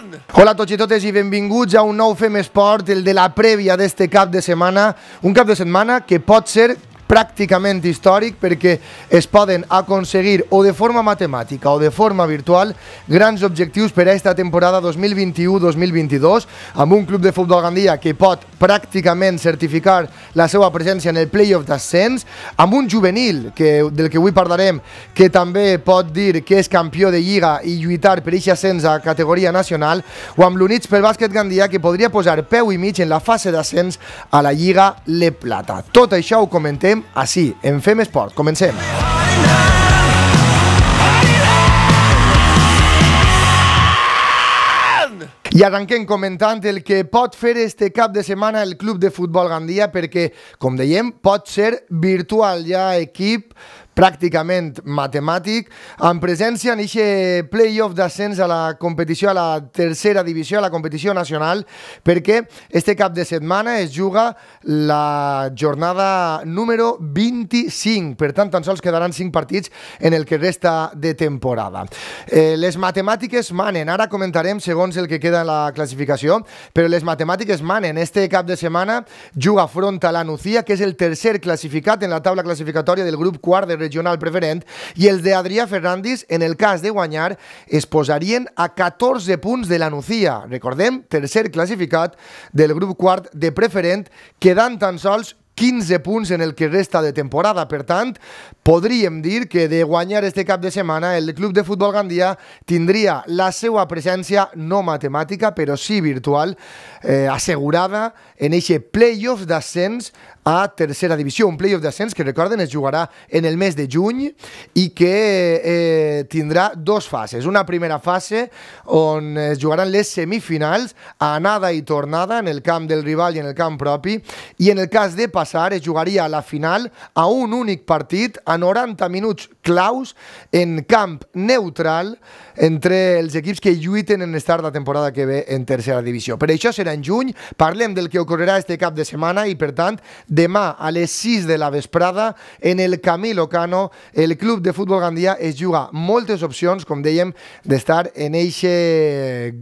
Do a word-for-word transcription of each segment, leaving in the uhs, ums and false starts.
Hola a tots i totes i benvinguts a un nou Fem Esport, el de la prèvia d'este cap de setmana, un cap de setmana que pot ser pràcticament històric perquè es poden aconseguir o de forma matemàtica o de forma virtual grans objectius per a esta temporada dos mil vint-i-u dos mil vint-i-dos amb un club de futbol Gandia que pot pràcticament certificar la seva presència en el play-off d'ascens, amb un juvenil que, del que avui parlarem, que també pot dir que és campió de Lliga i lluitar per aquest ascens a categoria nacional, o amb l'Units pel Bàsquet Gandia que podria posar peu i mig en la fase d'ascens a la Lliga Le Plata. Tot això ho comentem així, en Fem Esport. Comencem. I arrenquem comentant el que pot fer este cap de setmana el Club de Futbol Gandia perquè, com dèiem, pot ser virtual. Hi ha equip pràcticament matemàtic, amb presència en aquest play-off d'ascens a la competició, a la tercera divisió, a la competició nacional, perquè este cap de setmana es juga la jornada número vint-i-cinc, per tant, tan sols quedaran cinc partits en el que resta de temporada. Eh, les matemàtiques manen, ara comentarem segons el que queda en la classificació, però les matemàtiques manen. Este cap de setmana juga front a la Nucía, que és el tercer classificat en la taula classificatòria del grup quart de regional preferent, i els de Adrià Ferrandis, en el cas de guanyar, es posarien a catorze punts de la Nucía. Recordem, tercer classificat del grup quart de preferent, quedant tan sols quinze punts en el que resta de temporada. Per tant, podríem dir que de guanyar este cap de setmana el Club de Futbol Gandia tindria la seva presència no matemàtica, però sí virtual, eh, assegurada en aquest play-off d'ascens a tercera divisió. Un play-off d'ascens que, recorden, es jugarà en el mes de juny i que eh, tindrà dos fases. Una primera fase on es jugaran les semifinals, anada i tornada en el camp del rival i en el camp propi, i en el cas de passar es jugaria a la final a un únic partit a noranta minuts claus en camp neutral entre els equips que lluiten en estar la temporada que ve en tercera divisió. Per això serà en juny, parlem del que ocorrerà este cap de setmana i, per tant, demà a les sis de la vesprada en el Camilo Cano el Club de Futbol Gandia es juga moltes opcions, com dèiem, d'estar en eixe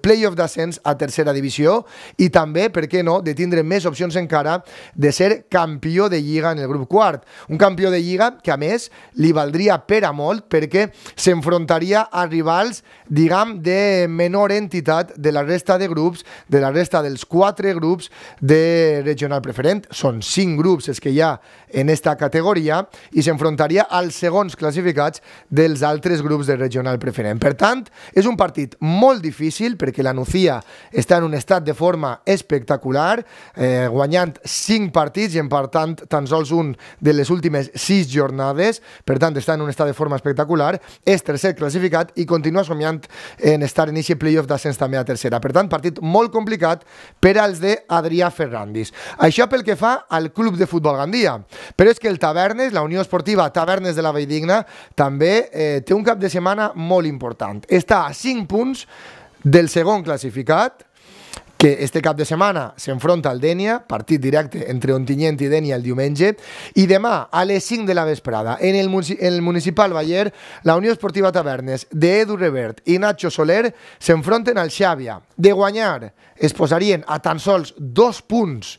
play-off d'ascens a tercera divisió i també, per què no, de tindre més opcions encara de ser campió de Lliga en el grup quart. Un campió de Lliga que, a més, li valdria per a molt perquè s'enfrontaria a rivals, diguem, de menor entitat de la resta de grups, de la resta dels quatre grups de regional preferent. Són cinc grups els que hi ha en esta categoria i s'enfrontaria als segons classificats dels altres grups de regional preferent. Per tant, és un partit molt difícil perquè la Nucía està en un estat de forma espectacular, eh, guanyant cinc partits i empatant tan sols un de les últimes sis jornades. Per tant, està en un estat de forma espectacular, és tercer classificat i continua somiant en estar en aquest play-off d'ascens també a tercera. Per tant, partit molt complicat per als de Adrià Ferrandis. Això pel que fa al Club de Futbol Gandia. Però és que el Tavernes, la Unió Esportiva Tavernes de la Valldigna, també eh, té un cap de setmana molt important. Està a cinc punts del segon classificat, que este cap de setmana s'enfronta al Dénia, partit directe entre Ontinyent i Dénia el diumenge, i demà a les cinc de la vesprada en el, en el Municipal Baller, la Unió Esportiva Tavernes d'Edu Revert i Nacho Soler s'enfronten al Xàbia. De guanyar es posarien a tan sols dos punts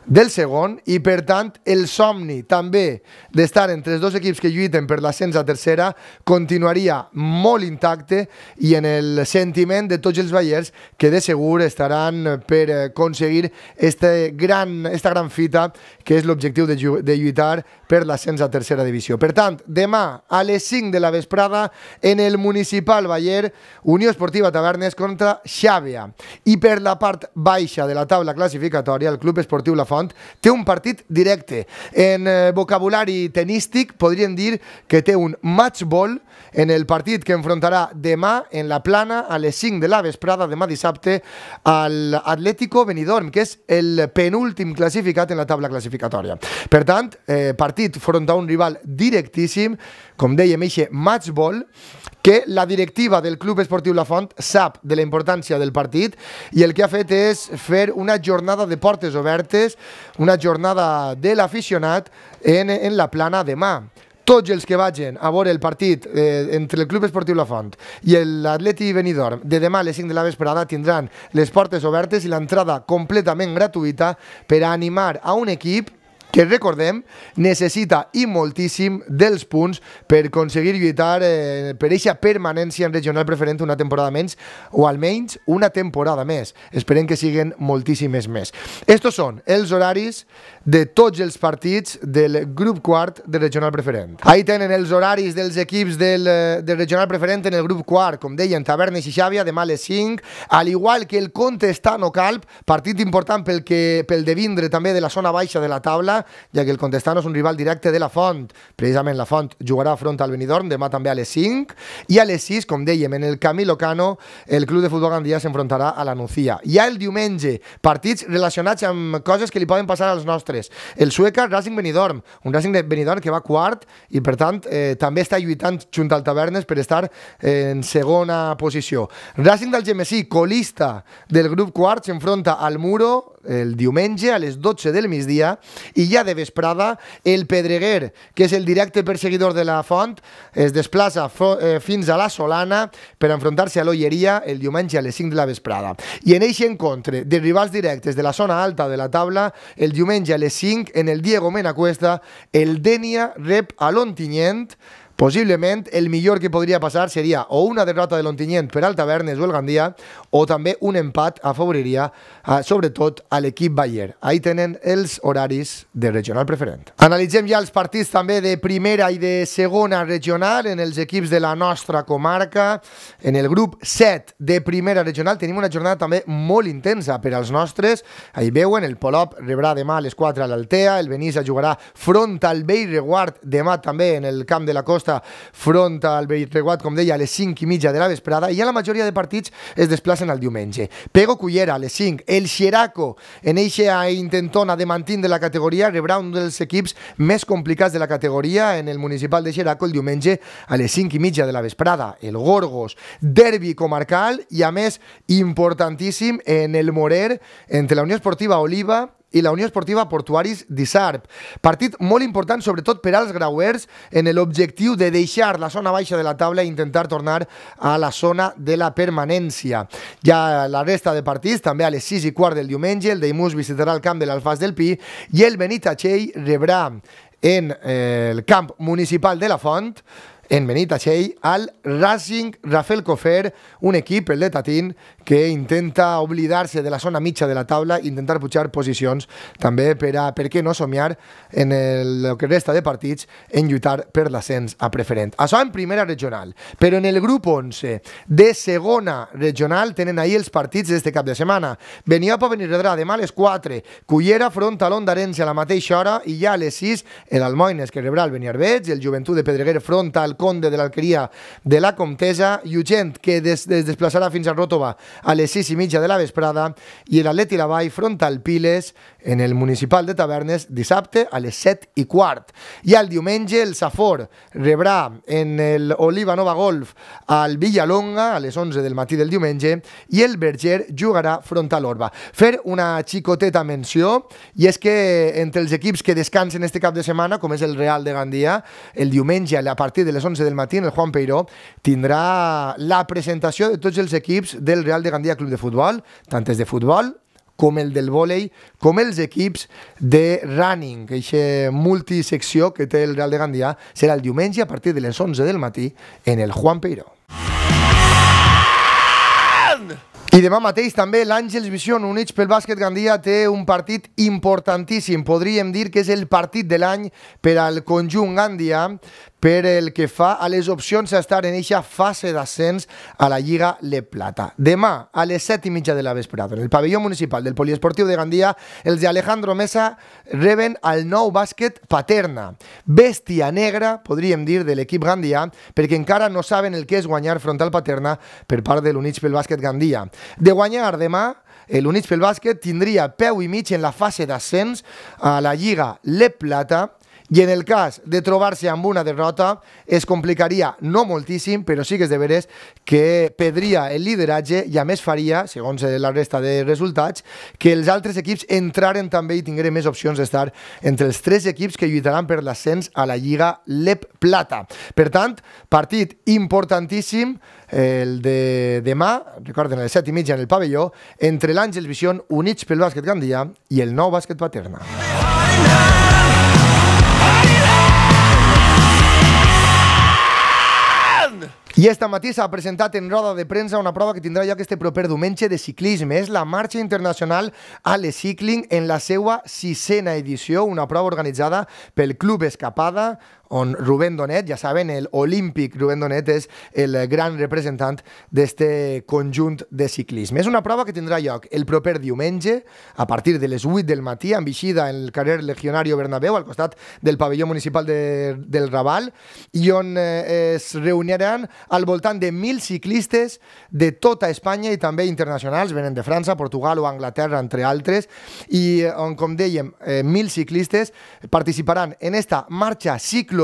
del segon i, per tant, el somni també d'estar entre els dos equips que lluiten per l'ascens a tercera continuaria molt intacte i en el sentiment de tots els ballers que de segur estaran per aconseguir este gran, esta gran fita que és l'objectiu de, de lluitar per l'ascens a tercera divisió. Per tant, demà a les cinc de la vesprada en el Municipal Baller, Unió Esportiva Tavernes contra Xàbia. I per la part baixa de la taula classificatòria, el Club Esportiu La Font té un partit directe. En eh, vocabulari tenístic podríem dir que té un match ball en el partit que enfrontarà demà en la Plana a les cinc de la vesprada, demà dissabte, al Atlético Benidorm, que és el penúltim classificat en la taula classificatòria. Per tant, eh, partit front a un rival directíssim, com dèiem, eixe match ball, que la directiva del Club Esportiu La Font sap de la importància del partit i el que ha fet és fer una jornada de portes obertes, una jornada de l'aficionat en, en la Plana demà. tots els que vagin a veure el partit eh, entre el Club Esportiu La Font i l'Atleti Benidorm de demà a les cinc de la vesprada tindran les portes obertes i l'entrada completament gratuïta per a animar a un equip que, recordem, necessita i moltíssim dels punts per aconseguir lluitar eh, per eixa permanència en regional preferent una temporada menys o almenys una temporada més. Esperem que siguen moltíssimes més. Estos són els horaris de tots els partits del grup quart de regional preferent. Ahí tenen els horaris dels equips del, del regional preferent en el grup quart, com deien, Tavernes i Xàbia, demà a les cinc, al igual que el Contestano Calp, partit important pel, que, pel de vindre també de la zona baixa de la taula, ja que el Contestano és un rival directe de la Font. Precisament la Font jugarà front al Benidorm demà també a les cinc, i a les sis, com dèiem, en el Camilo Cano, el Club de Futbol Gandia s'enfrontarà a la Nucía. I el diumenge, partits relacionats amb coses que li poden passar als nostres. El Sueca Racing Benidorm, un Racing de Benidorm que va quart i per tant eh, també està lluitant junt al Tavernes per estar eh, en segona posició. Racing d'Algemesí, colista del grup quart, s'enfronta al Muro el diumenge a les dotze del migdia, i ja de vesprada el Pedreguer, que és el directe perseguidor de la Font, es desplaça eh, fins a la Solana per enfrontar-se a l'Olleria el diumenge a les cinc de la vesprada. I en eixe encontre de rivals directes de la zona alta de la taula, el diumenge a les cinc en el Diego Mena Cuesta, el Denia rep a l'Ontinyent. Possiblement el millor que podria passar seria o una derrota de l'Ontinyent per al Tavernes o el Gandia, o també un empat afavoriria eh, sobretot a l'equip Bayer. Ahí tenen els horaris de regional preferent. Analitzem ja els partits també de primera i de segona regional en els equips de la nostra comarca. En el grup set de primera regional tenim una jornada també molt intensa per als nostres. Ahí veuen, el Polop rebrà demà a les quatre a l'Altea, el Benissa jugarà front al Bellreguard demà també en el camp de la Costa front al Bellreguard, com deia, a les cinc i mitja de la vesprada, i ja la majoria de partits es desplacen al diumenge. Pego Cullera a les cinc, el Xeraco en eixa intentona de mantindre la categoria rebrà un dels equips més complicats de la categoria en el municipal de Xeraco el diumenge a les cinc i mitja de la vesprada. El Gorgos, derbi comarcal i a més importantíssim en el Morer entre la Unió Esportiva Oliva i la Unió Esportiva Portuaris d'Isarp. Partit molt important, sobretot per als grauers, en l'objectiu de deixar la zona baixa de la taula i intentar tornar a la zona de la permanència. Ja la resta de partits, també a les sis i quart del diumenge, el Deimús visitarà el camp de l'Alfàs del Pi i el Benitatxell rebrà en eh, el camp municipal de la Font, en Benitatxell, al Racing Rafael Cofer, un equip, el de Tatín, que intenta oblidar-se de la zona mitja de la taula, intentar pujar posicions, també per a, per què no somiar en el, el que resta de partits en lluitar per l'ascens a preferent. Això en primera regional, però en el grup onze de segona regional tenen ahir els partits d'este cap de setmana. Beniopa Benirredrà demà a les quatre, Cullera front a l'Ondarens a la mateixa hora, i ja a les sis el Almoines que rebrà el Beniarbeig, el Joventut de Pedreguer front al Conde de l'Alqueria de la Comtesa, Llugent que des, des desplaçarà fins a Ròtova a les sis i mitja de la vesprada, i l'Atleti Lavall front al Piles en el municipal de Tavernes dissabte a les set i quart. I el diumenge el Safor rebrà en el Oliva Nova Golf al Villalonga a les onze del matí del diumenge, i el Berger jugarà front a l'Orba. Fer una xicoteta menció, i és que entre els equips que descansen este cap de setmana, com és el Real de Gandia, el diumenge a partir de les onze del matí en el Juan Peiró tindrà la presentació de tots els equips del Real de Gandia Club de Futbol, tant els de futbol com el del vòlei, com els equips de running. Aquesta multisecció que té el Real de Gandia serà el diumenge a partir de les onze del matí en el Juan Peiró. I demà mateix també l'Àngels Vision, units pel bàsquet Gandia, té un partit importantíssim. Podríem dir que és el partit de l'any per al conjunt Gandia, per el que fa a les opcions a estar en eixa fase d'ascens a la Lliga Le Plata. Demà, a les set i mitja de la vesprada, en el pavelló municipal del Poliesportiu de Gandia, els de Alejandro Mesa reben al Nou Bàsquet Paterna. Bèstia negra, podríem dir, de l'equip Gandia, perquè encara no saben el que és guanyar front al Paterna per part de l'Units pel Bàsquet Gandia. De guanyar demà, l'Units pel Bàsquet tindria peu i mig en la fase d'ascens a la Lliga Le Plata, I en el cas de trobar-se amb una derrota, es complicaria no moltíssim, però sí que és de veres que perdria el lideratge i a més faria, segons la resta de resultats, que els altres equips entraren també i tingueren més opcions d'estar entre els tres equips que lluitaran per l'ascens a la Lliga Lep Plata. Per tant, partit importantíssim, el de demà, recorden, a les set i mitja en el pavelló, entre l'Àngels Vision, units pel bàsquet Gandia, i el Nou Bàsquet Paterna. I esta matí s'ha presentat en roda de premsa una prova que tindrà lloc este proper diumenge de ciclisme. És la Marxa Internacional Ale Cycling en la seva sisena edició, una prova organitzada pel Club Escapada, on Rubén Donet, ja saben, el olímpic Rubén Donet és el gran representant d'este conjunt de ciclisme. És una prova que tindrà lloc el proper diumenge a partir de les vuit del matí, amb eixida en el carrer Legionario Bernabéu, al costat del pavelló municipal de, del Raval, i on eh, es reuniran al voltant de mil ciclistes de tota Espanya i també internacionals, venen de França, Portugal o Anglaterra, entre altres, i on, com dèiem, eh, mil ciclistes participaran en esta marxa cicloturista,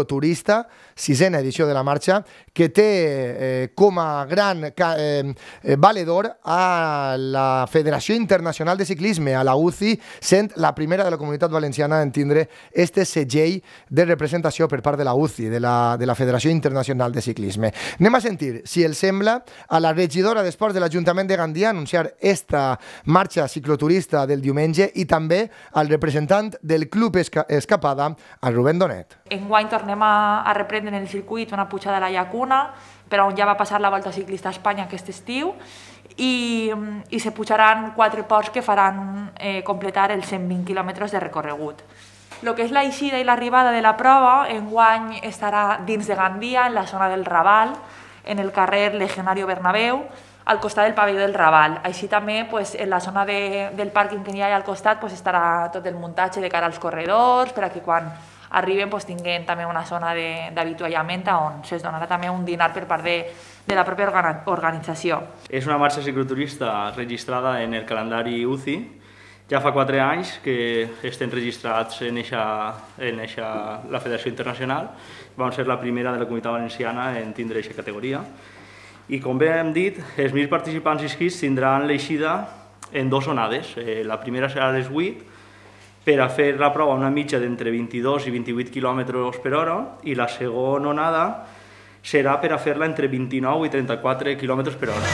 sisena edició de la marxa, que té eh, com a gran eh, valedor a la Federació Internacional de Ciclisme, a la U C I, sent la primera de la Comunitat Valenciana en tindre este segell de representació per part de la U C I, de la, de la Federació Internacional de Ciclisme. Anem a sentir, si els sembla, a la regidora d'Esports de l'Ajuntament de Gandia anunciar esta marxa cicloturista del diumenge i també al representant del Club Esca Escapada, a Rubén Donet. Enguany tornem a, a reprendre en el circuit una pujada a la Llacuna, per on ja va passar la Volta Ciclista a Espanya aquest estiu, i, i se pujaran quatre ports que faran eh, completar els cent vint quilòmetres de recorregut. El que és l'eixida i l'arribada de la prova, enguany estarà dins de Gandia, en la zona del Raval, en el carrer Legionario Bernabéu, al costat del pavelló del Raval. Així també, pues, en la zona de, del pàrquing que hi ha al costat, pues, estarà tot el muntatge de cara als corredors, per a que quan arriben pues, tinguin també una zona d'avituallament on se'ls donarà també un dinar per part de, de la pròpia organització. És una marxa cicloturista registrada en el calendari U C I. Ja fa quatre anys que estem registrats en, eixa, en eixa, la Federació Internacional. Vam ser la primera de la Comunitat Valenciana en tindre aquesta categoria. I com bé hem dit, els mil participants inscrits tindran l'eixida en dues onades. Eh, la primera serà a les vuit, per a fer la prova una mitja d'entre vint-i-dos i vint-i-vuit quilòmetres per hora, i la segona onada serà per a fer-la entre vint-i-nou i trenta-quatre quilòmetres per hora.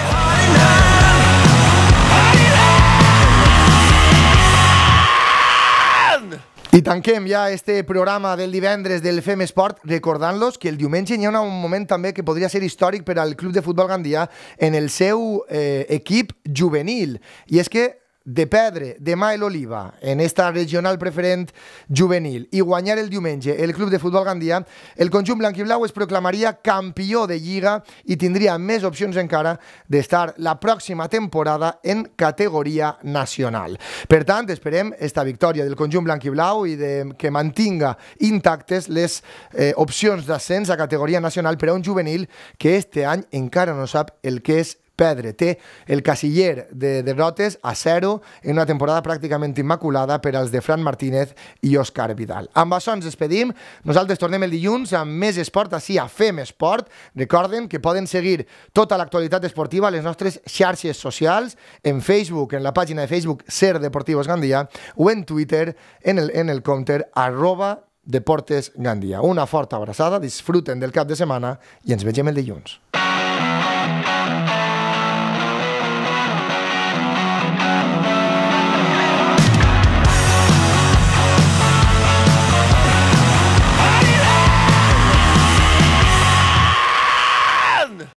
I tanquem ja este programa del divendres del Fem Esport recordant-los que el diumenge hi ha un moment també que podria ser històric per al Club de Futbol Gandia en el seu eh, equip juvenil. I és que de perdre demà l'Oliva en esta regional preferent juvenil i guanyar el diumenge el Club de Futbol Gandia, el conjunt blanquiblau es proclamaria campió de Lliga i tindria més opcions encara d'estar la pròxima temporada en categoria nacional. Per tant, esperem esta victòria del conjunt blanquiblau i de, que mantinga intactes les eh, opcions d'ascens a categoria nacional per a un juvenil que este any encara no sap el que és perdre. Té el casiller de derrotes a zero en una temporada pràcticament immaculada per als de Fran Martínez i Òscar Vidal. Amb això ens despedim. Nosaltres tornem el dilluns amb més esport així a Fem Esport. Recorden que poden seguir tota l'actualitat esportiva a les nostres xarxes socials, en Facebook, en la pàgina de Facebook Ser Deportivos Gandia, o en Twitter, en el, en el compte arroba Deportes Gandia. Una forta abraçada, disfruten del cap de setmana i ens vegem el dilluns.